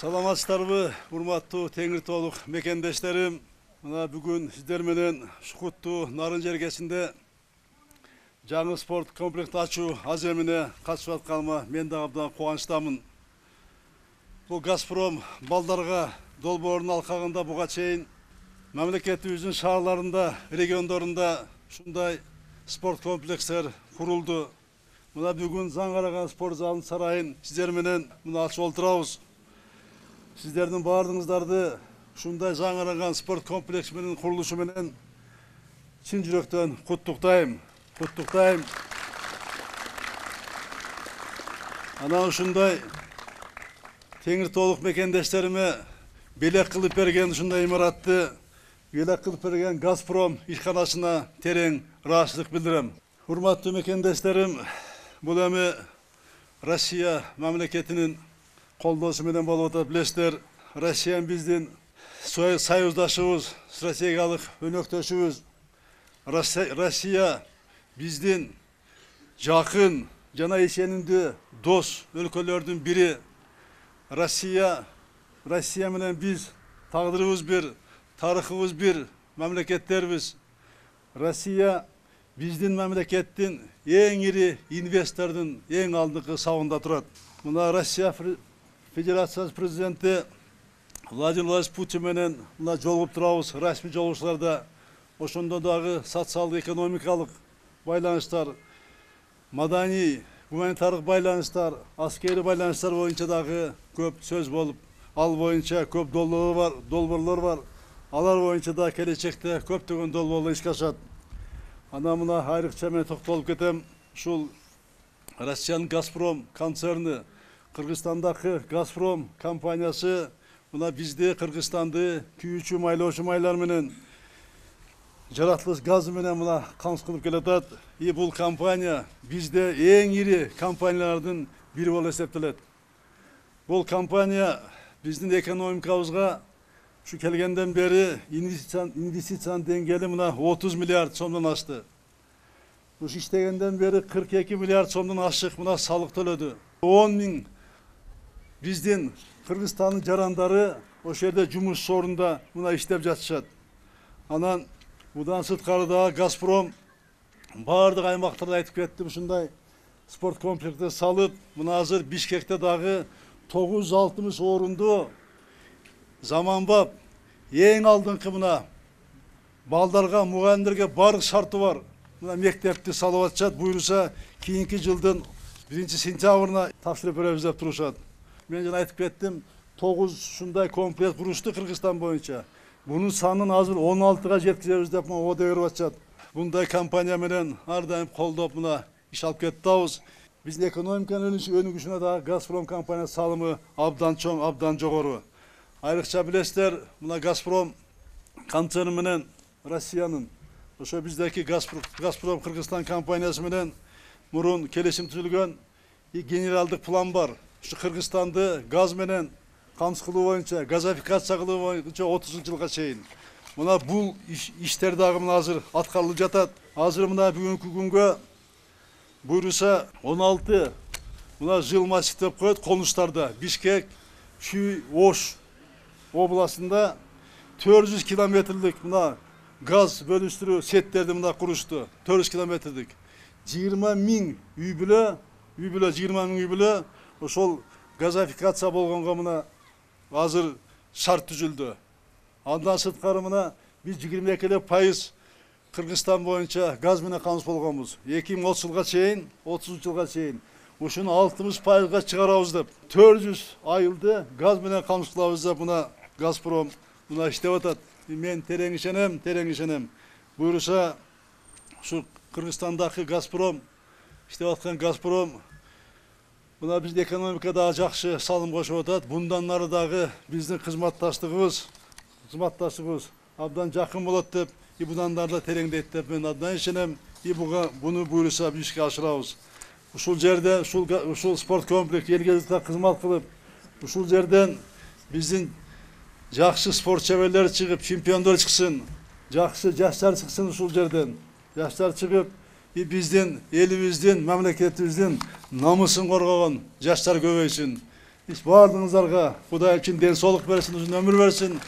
Саламатсыздарбы, урматтуу Теңир Тоолук мекендештерим. Мына бүгүн сиздер менен Шукуттуу Нарын жергесинде жаңы спорт комплексти ачуу аземине катышып атканыма мен да абдан кубанычтамын. Бул Газпром балдарга долбоорунун алкагында буга чейин мамлекетибиздин шаарларында, региондорунда ушундай спорт комплекстер курулду. Мына бүгүн заң караган спорт залынын сарайын сиздер менен мына ачып отурабыз. Сиздердин баардыгыңыздарды ушундай жаңыраган спорт комплекси менен курулушу менен чын жүрөктөн куттуктайм. Анан ушундай Теңир Тоолук мекендештериме белек кылып берген ушундай имаратты белек кылып берген Газпром ишканасына терең ыраазычылык билдирем. Урматтуу мекендештерим, бул эми Россия мамлекетинин колдоосу менен болуп атат, билесиздер. Россия биздин союздашыбыз, стратегиялык өнөктөшүбүз. Россия биздин жакын жана ишенимдүү дос өлкөлөрдүн бири. Россия менен биз тагдырыбыз бир, тарыхыбыз бир мамлекеттербиз. Россия биздин мамлекеттин эң ири инвестордун эң алдыңкы сабында турат. Мына Россия Федерациясы президенти Владимир Владимирович Путин менен мына жолугуп турабыз, расмий жолугушууларда. Ошондо дагы социалдык экономикалык байланыштар, маданий, гуманитардык байланыштар, аскерий байланыштар боюнча дагы көп сөз болуп, ал боюнча көп долбоорлор бар. Алар боюнча да келечекте көптөгөн долбоорлор ишке ашат. Анан мына айрыкча мен токтолуп кетем. Ушул Россиянын Газпром концерни, Кыргызстандагы Газпром компаниясы мына бизди Кыргызстанды күйүүчү майлоочу майлар менен жаратылыш газы менен мына камсыз кылып келатат. Бул компания бизде эң ири компаниялардын бири болуп эсептелет. Бул компания биздин экономикабызга ушу келгенден бери инвестициянын деңгээли мына 30 миллиард сомдон ашты. Ушу иштегенден бери 42 миллиард сомдон ашык мына салык төлөдү. 10 миң биздин Кыргызстандын жарандары ошол жерде жумуш орунда мына иштеп жатышат. Анан будан сырткары дагы Газпром баардык аймактарда айтып кеттим, ушундай спорт комплексти салып, мына азыр Бишкекте дагы 960 орунду заманбап эң алдыңкы мына балдарга, мугалимдерге баардык шарты бар мына мектепти салып атышат. Буюрса кийинки жылдын 1-сентябрына тапшырып беребиз деп турушат. Мен жана айтып кеттим, 9 ушундай комплекс курушту Кыргызстан боюнча. Бунун санын азыр 16га жеткизебиз деп оодо берип атышат. Мындай компания менен ар дайым колдоп мына иш алып кетип атабыз. Биздин экономиканын өнүгүшүнө дагы Газпром компаниясынын салымы абдан чоң, абдан жогору. Айрыкча билесиздер, мына Газпром концерни менен Россиянын ошо биздеки Газпром Кыргызстан компаниясы менен мурун келишим түзүлгөн генералдык план бар. Ушу Кыргызстанды газ менен камсыз кылуу боюнча, газификация кылуу боюнча 30-жылга чейин. Мына бул иштер дагы мына азыр аткарылып жатат. Азыр мына бүгүнкү күнгө буюрса 16 мына жыл массив деп коет конуштарда. Бишкек, Чүй, Ош областында 400 километрлик мына газ бөлүштүрүү сеттерди мына курушту. 400 километрлик. 20 миң үй бүлө, 20 миң үй бүлө ошол газификация болгонго мына азыр шарт түзүлдү. Андан сырткары мына биз 22% Кыргызстан боюнча газ менен камсыз болгонбуз. 2030 жылга чейин ушуну 60%га чыгарабыз деп 400 айылды газ менен камсыз кылабыз деп мына Газпром мына иштеп атат. Мен терең ишенем. Буюрса ушу Кыргызстандагы Газпром иштеп аткан Газпром мына биздин экономикада жакшы салым кошуп атат. Bundan нары дагы биздин кызматташтыгыбыз абдан жакын болот деп, bundan нары да тереңдейт деп мен абдан ишенем. Буну буюрса ишке ашырабыз. ушул жерде ушул спорт комплекс элге журтка кызмат кылып, ушул жерден биздин жакшы спорт шеберлери чыгып, чемпиондор чыксын, жакшы жаштар чыксын ушул жерден. Жаштар чыгып, биздин элибиздин, мамлекетибиздин намысын коргогон жаштар көбөйсүн. Бардыгыңыздарга Кудай чын ден соолук берсин, узун өмүр берсин.